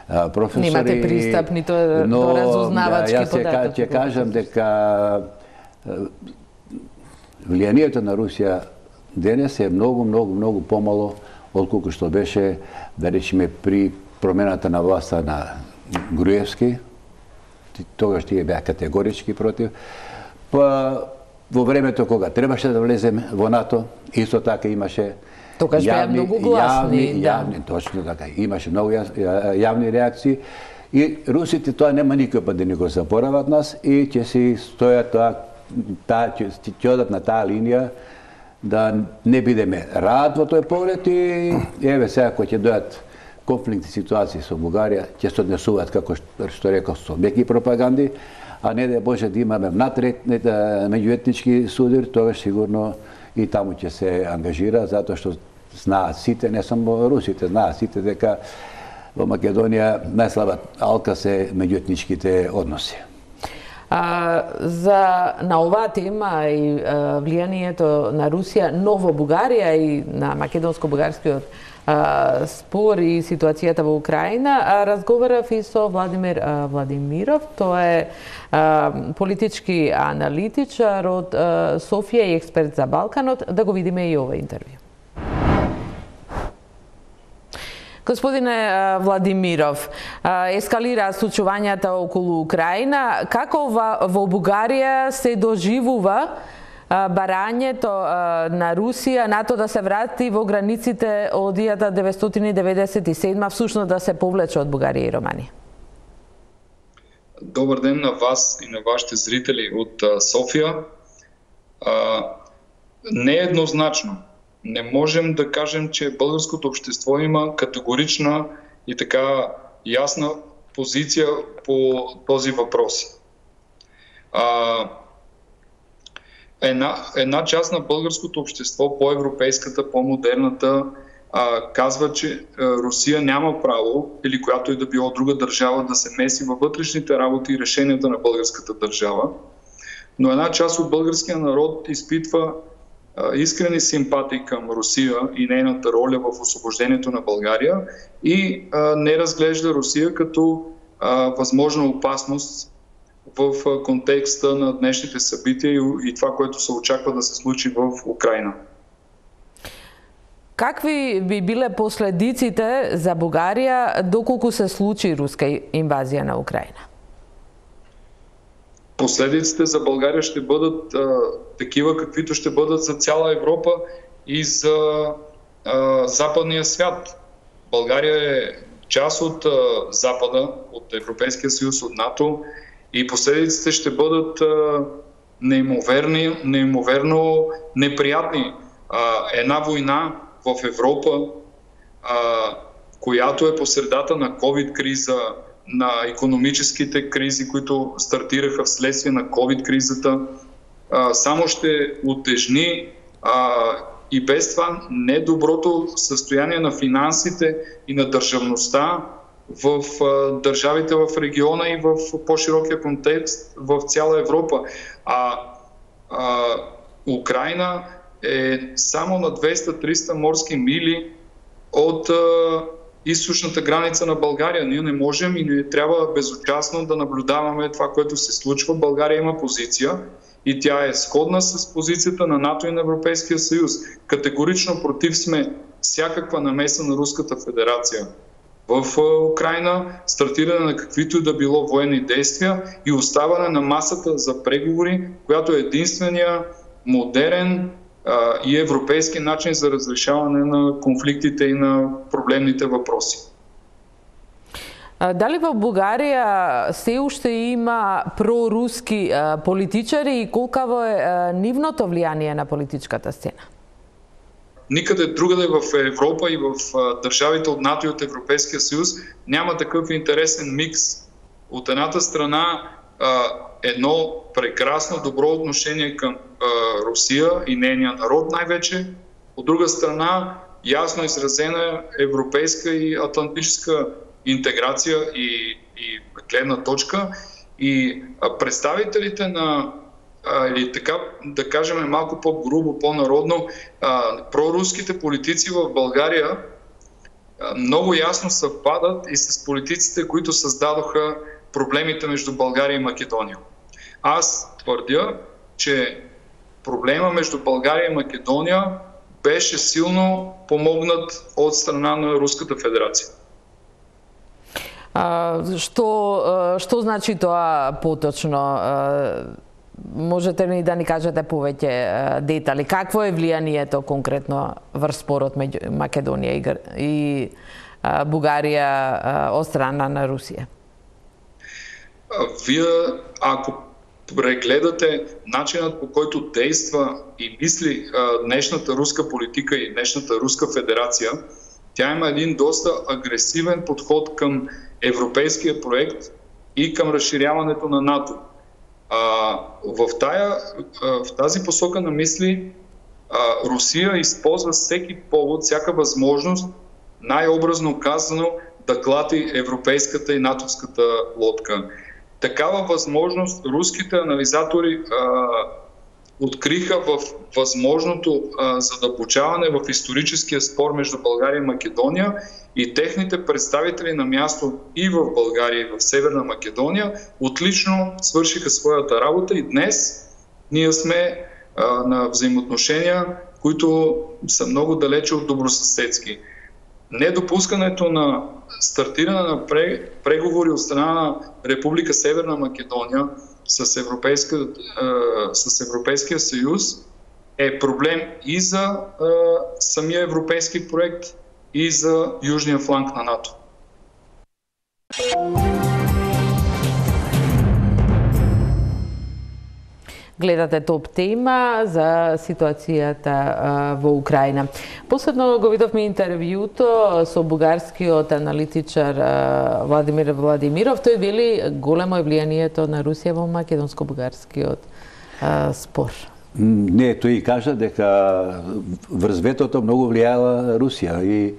S2: професор.
S1: Немате пристап нито до разузнавачки податоци.
S2: Јас ќе кажам дека влијанието на Русија денес е многу, многу, многу помало отколку што беше, да речеме, при промената на власта на Груевски. Тогаш тие беа категорички против. Па во времето кога требаше да влеземе во НАТО, исто така имаше
S1: Тогаш беа многу гласни,
S2: јавни,
S1: да.
S2: јавни, точно така, имаше многу јавни реакции и русите тоа нема никој пат да ни го заборават нас и ќе си стојат тоа, таа ќе одат на таа линија да не бидеме рад во тој поглед и еве сега кога ќе дојат конфликтни ситуации со Бугарија, ќе се однесуваат како што реков со меки пропаганди, а не да Боже да имаме внатре меѓуетнички судир, тогаш сигурно и таму ќе се ангажира, затоа што знаат сите, не само русите, знаат сите дека во Македонија најслаба алка се меѓуетничките односи.
S1: А, за на оваа тема и а, влијанието на Русија, но во Бугарија и на македонско-бугарскиот спор и ситуацијата во Украина, разговарав и со Владимир а, Владимиров. Тоа е а, политички аналитичар од а, Софија и експерт за Балканот. Да го видиме и ова интервју. Господине Владимиров, ескалира случувањата околу Украина. Како во Бугарија се доживува барањето на Русија, НАТО да се врати во границите од илјада деветстотини деветдесет и седма, всушност да се повлече од Бугарија и Романија?
S5: Добар ден на вас и на вашите зрители од Софија. Не е еднозначно. Не можем да кажем, че българското общество има категорична и така ясна позиција по този въпрос. Една, една част на българското общество, по-европейската, по-модерната, казва, че Русия няма право, или която и да било друга държава, да се меси във вътрешните работи и решенията на българската държава. Но една част от българския народ изпитва искрени симпатии към Русия и нейната роля в освобождението на България и а, не разглежда Русия като а, възможна опасност в а, контекста на днешните събития и, и това, което се очаква да се случи в Украина.
S1: Какви би биле последиците за Бугарија доколку се случи руска инвазија на Украина?
S5: Последиците за България ще бъдат а, такива, каквито ще бъдат за цяла Европа и за а, западния свят. България е част от а, Запада, от Европейския съюз, от НАТО и последиците ще бъдат а, неимоверни, неимоверно неприятни. А, една война в Европа, а, която е по средата на ковид криза, на икономическите кризи, които стартираха вследствие на ковид кризата, само ще утежни и без това недоброто състояние на финансите и на държавността в държавите в региона и в по-широкия контекст в цяла Европа. А, а Украина е само на двеста-триста морски мили от а, източната граница на България. Ние не можем и не трябва безучастно да наблюдаваме това, което се случва. България има позиция и тя е сходна с позицията на НАТО и на Европейския съюз. Категорично против сме всякаква намеса на Руската федерация в Украина, стартиране на каквито и да било военни действия и оставане на масата за преговори, която е единствения модерен а, и европейски начин за разрешаване на конфликтите и на проблемните въпроси.
S1: Дали во Бугарија се уште има проруски политичари и колкаво е нивното влијание на политичката сцена?
S5: Никъде другаде в Европа и в държавите от НАТО и от Европейския съюз няма такъв интересен микс. От едната страна едно прекрасно добро отношение към Русия и нейния народ най-вече, от друга страна ясно изразена европейска и атлантическа интеграция и, и гледна точка, и представителите на, или така да кажем малко по-грубо, по-народно, проруските политици в България много ясно съвпадат и с политиците, които създадоха проблемите между България и Македония. Аз твърдя, че проблема между България и Македония беше силно помогнат от страна на Руската федерация.
S1: А, што, што значи тоа поточно? Можете ли да ни кажете повеќе детали? Какво е влијанието конкретно врз спорот меѓу Македонија и, и Бугарија од страна на Русија?
S5: Вие, ако прегледате начинът, по който действа и мисли днешната руска политика и днешната Руска федерация, тя има един доста агресивен подход към европейския проект и към разширяването на НАТО. А, в, тая, в тази посока на мисли а, Русия използва всеки повод, всяка възможност, най-образно казано, да клати европейската и натовската лодка. Такава възможност руските анализатори а, откриха в възможното а, задълбочаване в историческия спор между България и Македония, и техните представители на място и в България, и в Северна Македония отлично свършиха своята работа и днес ние сме а, на взаимоотношения, които са много далече от добросъседски. Недопускането на стартиране на преговори от страна на Република Северна Македония с, Европейска, с Европейския съюз е проблем и за самия европейски проект, и за южния фланг на НАТО.
S1: Гледате топ тема за ситуацијата во Украина. Последно го видовме интервјуто со бугарскиот аналитичар Владимир Владимиров. Тој вели големо е влијанието на Русија во македонско-бугарскиот спор.
S2: Не, тој кажа дека врз ветото многу влијала Русија и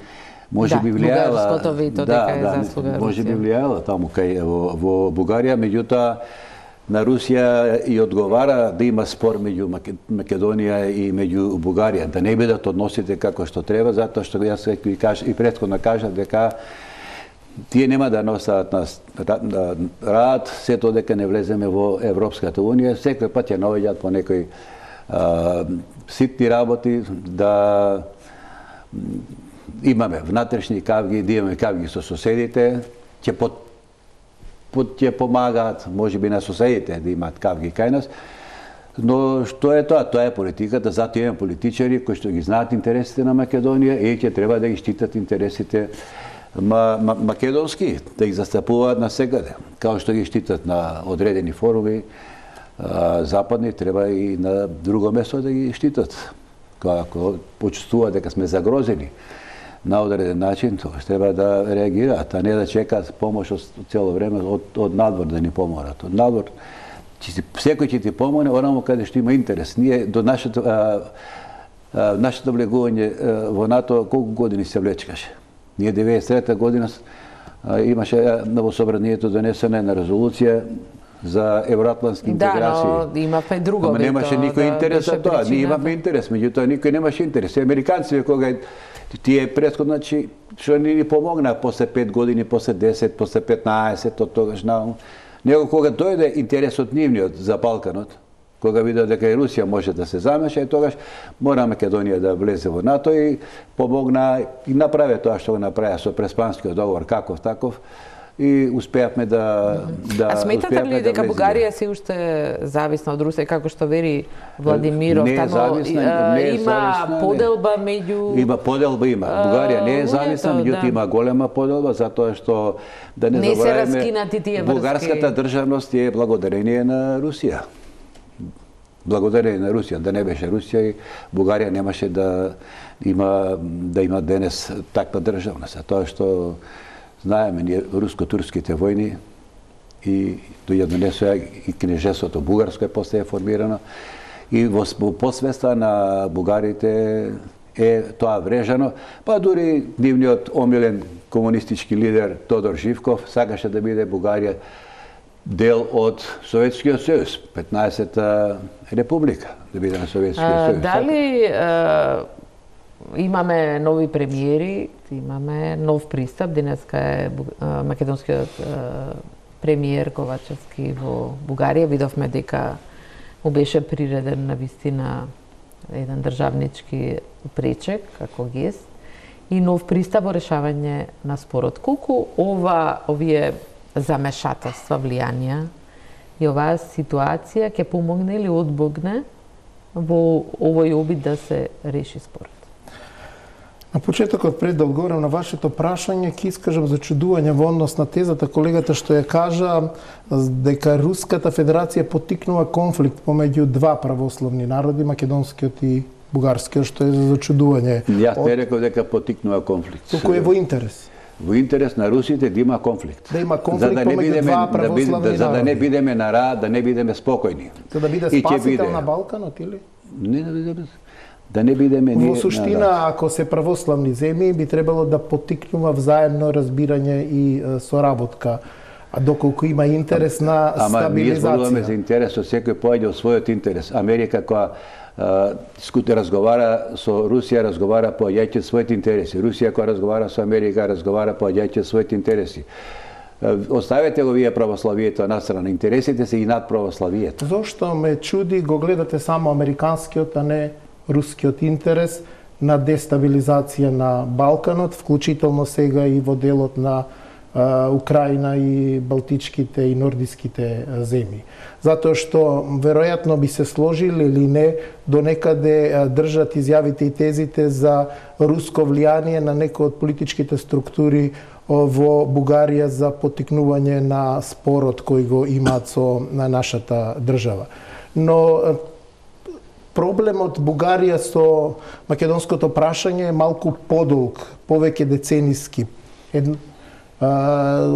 S2: може
S1: да,
S2: би влијала
S1: бугарското вето дека е
S2: да,
S1: заслуга
S2: може би
S1: Русија.
S2: влијала таму кај во, во Бугарија, меѓутоа на Русија и одговара да има спор меѓу Македонија и меѓу Бугарија, да не бидат односите како што треба, затоа што јас и кажа и претходно кажав дека тие нема да носат на рад сето дека не влеземе во Европската унија, секој пат ја наоѓаат по некои а, ситни работи, да имаме внатрешни кавги, да имаме кавги со соседите, ќе под ќе помагаат, може би, на соседите да имаат кавги кај нас. Но што е тоа? Тоа е политиката, затоа имаме политичари кои што ги знаат интересите на Македонија и ќе треба да ги штитат интересите ма, ма, македонски, да ги застапуваат насекаде. Као што ги штитат на одредени форуми, а, западни, треба и на друго место да ги штитат. Ако почувствуваат дека сме загрозени. на одреден начин, тогаш треба да реагираат, а не да чекаат помош цело време од, од надвор да ни поморат. Од надвор, че секој ќе ти помогне, онаму каде што има интерес. Ние до нашето, а, а, нашето влегување во НАТО колку години се влечкаше? Ние деветдесет и трета година а, имаше во собранието донесена една резолуција за евроатлантски интеграции.
S1: Да, но имавме друго.
S2: Ама немаше никој интерес за тоа. Ние имавме интерес, меѓутоа никој немаше интерес. И американците кога тие претходно, значи, што ни помогна после пет години, после десет, после петнаесет, од тогаш наваму. Него кога дојде интересот нивниот за Балканот, кога видеа дека и Русија може да се замеша, и тогаш мора Македонија да влезе во НАТО и помогна и направи тоа што го направи со Преспанскиот договор, каков таков, и успеавме да да
S1: А сметате ли дека
S2: да
S1: Бугарија се уште зависна од Русија, како што вери Владимиров,
S2: не е зависна, не е
S1: има
S2: зависна,
S1: поделба меѓу
S2: Има поделба, има. Бугарија не е зависна, меѓутоа
S1: да.
S2: има голема поделба, затоа што да не,
S1: Не се
S2: забораваме,
S1: раскинати тие врски.
S2: бугарската државност е благодарение на Русија. Благодарение на Русија, да не беше Русија, и Бугарија немаше да има да има денес таква државност. Тоа што знаеме ние руско-турските војни и дојде донесоа и кнежеството бугарско е после формирано, и во посвеста на бугарите е тоа врежано, па дури нивниот омилен комунистички лидер Тодор Живков сакаше да биде Бугарија дел од Советскиот сојуз, петнаесета република, да биде на Советскиот сојуз.
S1: Дали е, имаме нови премиери, имаме нов пристап, денеска е македонскиот е, премиер Ковачевски во Бугарија, видовме дека му беше приреден на вистина еден државнички пречек како гест и нов пристап во решавање на спорот. Колку ова овие замешателства, влијанија и оваа ситуација ќе помогне или одбогне во овој обид да се реши спорот?
S3: На почетокот, пред да одговорам на вашето прашање, ќе искажам зачудување во однос на тезата колегата што ја кажа дека Руската Федерација поттикнува конфликт помеѓу два православни народи, македонскиот и бугарскиот, што е за зачудување.
S2: Јас не реков дека поттикнува конфликт.
S3: Туку е во интерес.
S2: Во интерес на русите да има конфликт.
S3: Да има конфликт
S2: за да не
S3: помеѓу
S2: бидеме,
S3: два православни
S2: да, биде, за да не
S3: народи.
S2: бидеме на рад, да не бидеме спокојни.
S3: За да биде
S2: И ќе
S3: спасител
S2: биде.
S3: на Балканот или?
S2: Не, да биде. Да не бидеме ние.
S3: Во суштина, ако се православни земји, би требало да поттикнува взаемно разбирање и е, соработка. А доколку има интерес на
S2: Ама ние зборуваме
S3: стабилизација.
S2: за интересот, секој појде од својот интерес. Америка која скуте разговара со Русија, разговара по јајќи своите интереси. Русија која разговара со Америка, разговара по јајќи своите интереси. Оставете го вие православието на страна. Интересите се и над православието.
S3: Зошто ме чуди, го гледате само американскиот, а не рускиот интерес на дестабилизација на Балканот, вклучително сега и во делот на а, Украина и Балтичките и Нордиските земји. Затоа што веројатно би се сложили или не, до некаде а, држат изјавите и тезите за руско влијание на некои од политичките структури во Бугарија за поттикнување на спорот кој го имаат со на нашата држава. Но проблемот Бугарија со македонското прашање е малку подолг, повеќе децениски. Ед, а,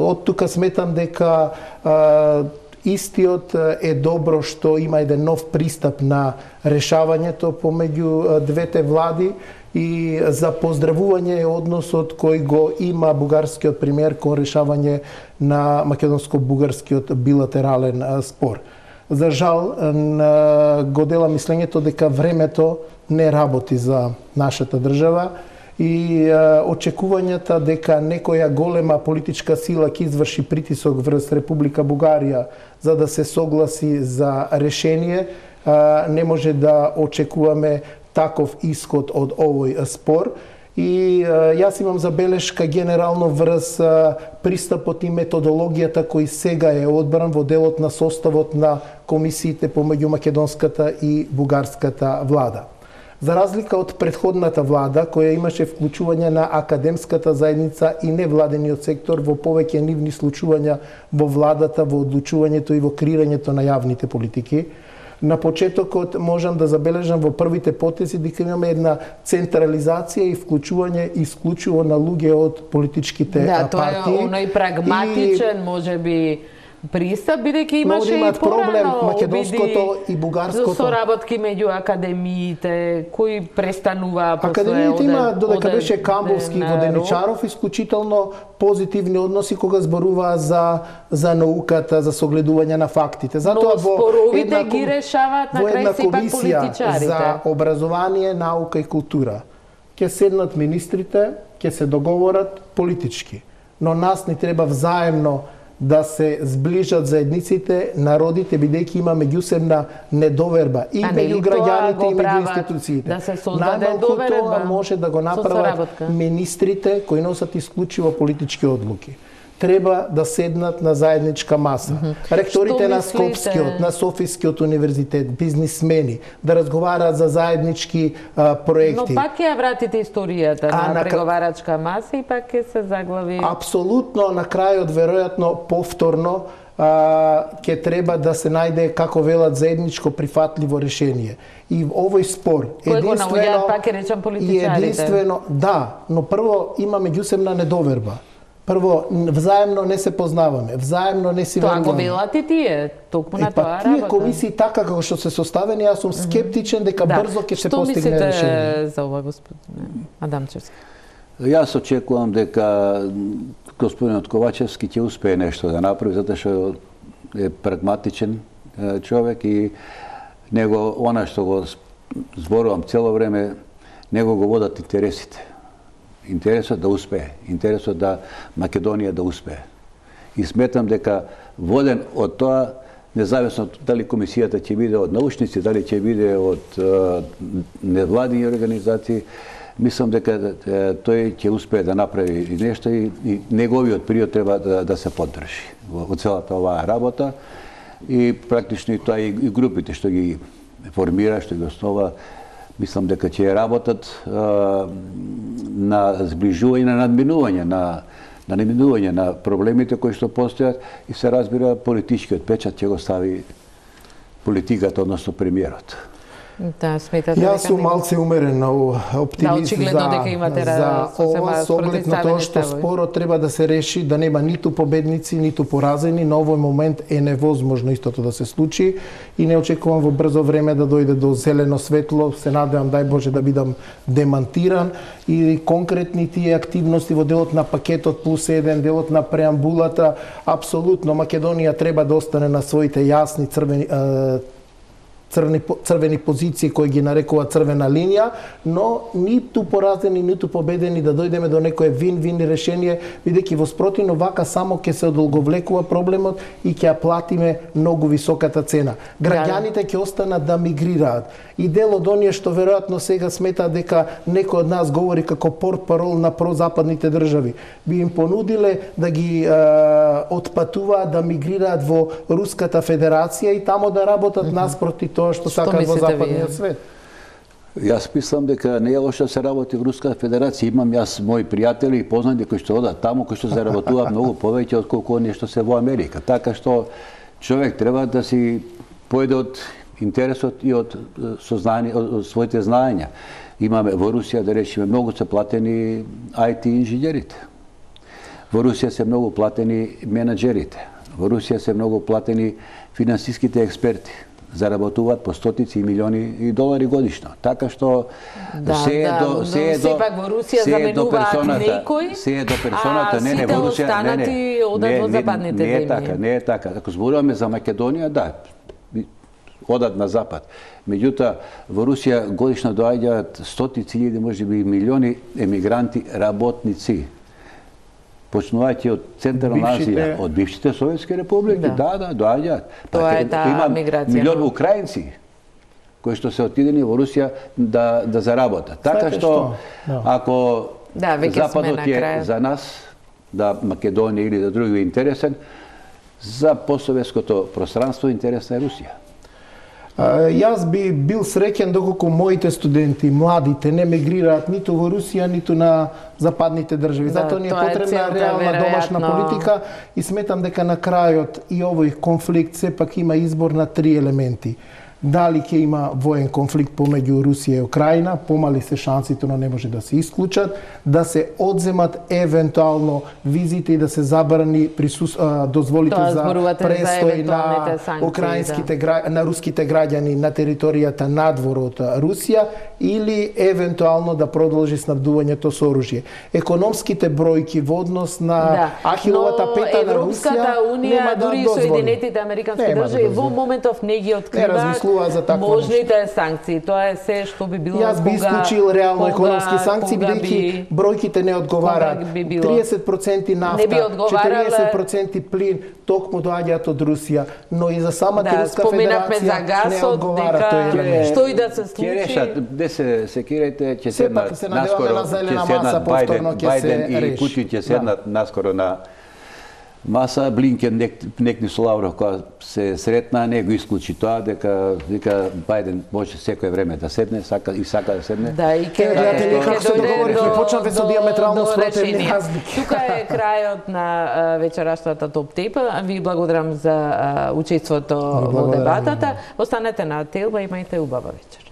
S3: од тука сметам дека а, истиот е добро што има еден нов пристап на решавањето помеѓу двете влади и за поздравување е односот кој го има бугарскиот премиер кон решавање на македонско-бугарскиот билатерален спор. За жал, го дела мислењето дека времето не работи за нашата држава и очекувањата дека некоја голема политичка сила ќе изврши притисок врз Република Бугарија за да се согласи за решение, не може да очекуваме таков исход од овој спор. И јас имам забелешка генерално врз пристапот и методологијата кој сега е одбран во делот на составот на комисиите помеѓу македонската и бугарската влада. За разлика од претходната влада, која имаше вклучување на академската заедница и невладениот сектор во повеќе нивни случувања во владата, во одлучувањето и во креирањето на јавните политики, На почетокот можам да забележам во првите потези дека имаме една централизација и вклучување исклучиво на луѓе од политичките
S1: да,
S3: партии.
S1: Да, тоа е оној прагматичен, и... можеби пристап, бидејќи имаше и порано
S3: македонското и бугарското
S1: соработки меѓу академиите кои престанува после
S3: академиите има додека беше Камбовски и Воденичаров исклучително позитивни односи кога зборуваа за за науката, за согледување на фактите. Затоа во
S1: споровите ги решаваат на крај се пак политичарите.
S3: За образование, наука и култура ќе седнат министрите, ќе се договорат политички, но нас ни треба взаемно да се сближат заедниците, народите, бидејќи има меѓусебна недоверба и меѓу граѓаните и меѓу институциите.
S1: Да се создаде доверба.
S3: Тоа може да го направат министрите кои носат исклучиво политички одлуки. Треба да седнат на заедничка маса. Mm -hmm. Ректорите на Скопскиот, на Софискиот универзитет, бизнисмени, да разговараат за заеднички а, проекти.
S1: Но пак ја вратите историјата а, на, на преговарачка маса и пак ќе се заглави...
S3: Апсолутно, на крајот, веројатно, повторно, а, ќе треба да се најде, како велат, заедничко прифатливо решение. И овој спор,
S1: Кој единствено... пак е речам политичарите.
S3: И единствено, да, но прво има меѓусебна недоверба. Прво, взаемно не се познаваме, взаемно не си веруваме.
S1: Тоа го велат и тие, токму на тоа работа.
S3: Тие комисии така како што се составени, јас сум скептичен дека да. брзо ќе се постигне решение.
S1: Што мислите за ова, господин Адамчевски?
S2: Јас очекувам дека господинот Ковачевски ќе успее нешто да направи, затоа што е прагматичен човек и него, она што го зборувам цело време, него го водат интересите. Интересот да успее, интересот да Македонија да успее. И сметам дека воден од тоа, независно дали комисијата ќе биде од научници, дали ќе биде од е, невладини организации, мислам дека е, тој ќе успее да направи нешто и, и неговиот период треба да, да се поддржи во, во целата оваа работа. И практично и тоа и, и групите што ги формира, што ги основа, мислам дека ќе работат а, на зближување, на надминување, на, на надминување на проблемите кои што постојат и се разбира политичкиот печат ќе го стави политиката, односно премиерот.
S1: Да, сметате
S3: Јас сум малце умерен на оптимист
S1: да,
S3: за, за ова, со оглед на тоа што спорот треба да се реши, да нема ниту победници, ниту поразени. На овој момент е невозможно истото да се случи и не очекувам во брзо време да дојде до зелено светло. Се надевам, дај Боже, да бидам демантиран и конкретни тие активности во делот на пакетот плюс еден, делот на преамбулата, апсолутно Македонија треба да остане на своите јасни црвени Црвени, црвени позиции кои ги нарекува црвена линија, но ниту поразени, ниту победени да дојдеме до некое вин-вин решение, бидејќи во спротивно вака само ќе се одолговлекува проблемот и ќе ја платиме многу високата цена. Граѓаните ќе останат да мигрираат. И дел од оние што веројатно сега сметаат дека некој од нас говори како портпарол на прозападните држави, би им понудиле да ги е, отпатуваат, да мигрираат во Руската Федерација и тамо да работат mm-hmm. наспроти тоа што сакаат во западниот свет.
S2: Јас мислам дека не е лошо да се работи во Руската Федерација. Имам јас мои пријатели и познати кои што одат таму, кои што заработуваат многу повеќе од колку оние што се во Америка. Така што човек треба да си поеде од интересот и од сознание, од своите знаења. Имаме во Русија, да речеме, многу се платени ај ти инженерите. Во Русија се многу платени менаџерите. Во Русија се многу платени финансиските експерти. Заработуваат по стотици и милиони и долари годишно. Така што
S1: да,
S2: се е
S1: да,
S2: до се е до
S1: сепак во Русија заменуваат некој,
S2: се е до персоната, не не во Русија, не не.
S1: Одат во западните
S2: земји. Не е така, не е така. Ако зборуваме за Македонија, да, одат на запад. Меѓутоа, во Русија годишно доаѓаат стотици илјади, можеби милиони емигранти, работници. Почнувајќи од Централна Азија, од бившите советски републики, да, да, да доаѓаат.
S1: Тоа е таа миграција.
S2: Милион украинци кои што се отидени во Русија да да заработат. Така што ако
S1: да,
S2: Западот е за нас, да Македонија или да други интересен, за постсоветското пространство интересна е Русија.
S3: Јас би бил среќен доколку моите студенти, младите, не мигрираат ниту во Русија, ниту на западните држави. Да, затоа ни е потребна е реална домашна политика и сметам дека на крајот и овој конфликт сепак има избор на три елементи. дали ќе има воен конфликт помеѓу Русија и Украина, помали се шансите, но не може да се исклучат, да се одземат евентуално визите и да се забрани присус... дозволите
S1: Тоа
S3: за
S1: зборувате за
S3: престој на
S1: евентуалните санкции,
S3: украинските гра... на руските граѓани на територијата надвор од Русија или евентуално да продолжи снабдувањето со оружје. Економските бројки во однос на
S1: Да,
S3: Ахиловата
S1: но
S3: пета на Русија
S1: Европската унија,
S3: нема да
S1: дури и
S3: дозволи.
S1: Соединетите американски
S3: Нема да
S1: држави во
S3: дозволи.
S1: моментов не ги откриваат
S3: размислуваат за такво
S1: можните санкции. Тоа е се што би било
S3: Јас би
S1: кога-
S3: исклучил реално
S1: кога-
S3: економски санкции,
S1: кога
S3: бидејќи
S1: би-
S3: бројките не одговараат.
S1: кога би било?
S3: триесет проценти
S1: Не
S3: нафта,
S1: би одговарале-
S3: четириесет проценти плин токму доаѓаат од Русија, но и за самата
S1: Да,
S3: Руска
S1: споменавме за
S3: федерација не
S1: гасот,
S3: одговара
S1: дека
S3: тој елемент.
S1: што и да се
S2: Ќе
S1: случи.
S2: решат, де се секирајте, ќе
S3: Сепак
S2: седнат
S3: се надеваме
S2: наскоро,
S3: на зелена
S2: ќе седнат
S3: маса,
S2: Бајден,
S3: повторно ќе
S2: Бајден
S3: се
S2: и
S3: реши.
S2: Путин ќе седнат наскоро на маса. Блинкен нек, некни со Лавров кога се сретна, не го исклучи тоа, дека вика Бајден може секое време да седне, сака и сака да седне.
S1: Да, и ќе
S3: гледате
S1: ќе
S3: како се
S1: дојде
S3: договоривме,
S1: до-
S3: почнавме со
S1: до-
S3: диаметрално
S1: до
S3: спротивни
S1: решение.
S3: разлики.
S1: Тука е крајот на а, вечерашната топ тейп. Ви благодарам за а, учеството во
S3: благодарам.
S1: дебатата. Останете на Телба, имајте убава вечер.